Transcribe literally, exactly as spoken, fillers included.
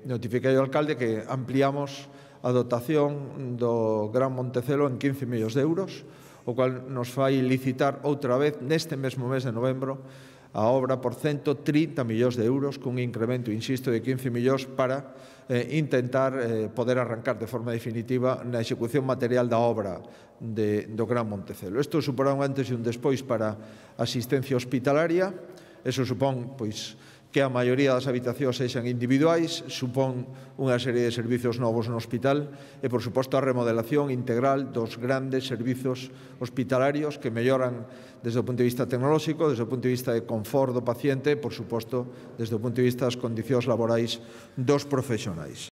notifiquei ao alcalde que ampliamos a dotación do Gran Montecelo en quince millóns de euros, o cual nos fai licitar outra vez neste mesmo mes de novembro a obra por ciento trinta millóns de euros, cun incremento, insisto, de quince millóns para eh, intentar eh, poder arrancar de forma definitiva na execución material da obra de, do Gran Montecelo. Isto suporá un antes e un despois para a asistencia hospitalaria. Eso supón, pois, que a maioría das habitacións sexan individuais, supón unha serie de servizos novos no hospital e, por suposto, a remodelación integral dos grandes servizos hospitalarios que melloran desde o punto de vista tecnolóxico, desde o punto de vista de confort do paciente e, por suposto, desde o punto de vista das condicións laborais dos profesionais.